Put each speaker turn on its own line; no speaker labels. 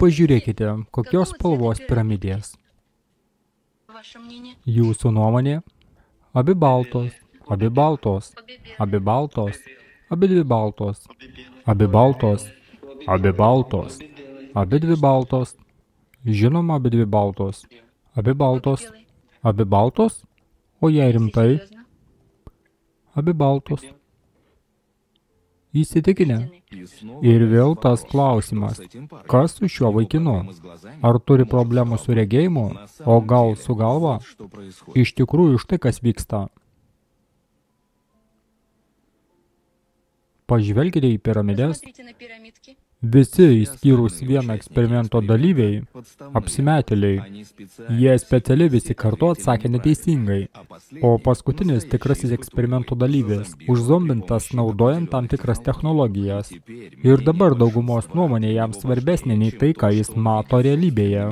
Pažiūrėkite, kokios spalvos piramidės. Jūsų nuomonė? Abi baltos, abi baltos, abi baltos, abi dvi baltos, abi baltos, abi baltos, abi dvi baltos. Žinoma, abi dvi baltos. Abi baltos. Abi baltos? O jei rimtai? Abi baltos. Įsitikinę. Ir vėl tas klausimas. Kas su šiuo vaikinu? Ar turi problemų su regėjimu? O gal su galva? Iš tikrųjų, štai kas vyksta. Pažvelkite į piramidės. Visi, išskyrus vieną eksperimento dalyviai, apsimetėliai, jie specialiai visi kartu atsakė neteisingai, o paskutinis tikrasis eksperimento dalyvis, užzombintas naudojant tam tikras technologijas. Ir dabar daugumos nuomonė jam svarbesnė nei tai, ką jis mato realybėje.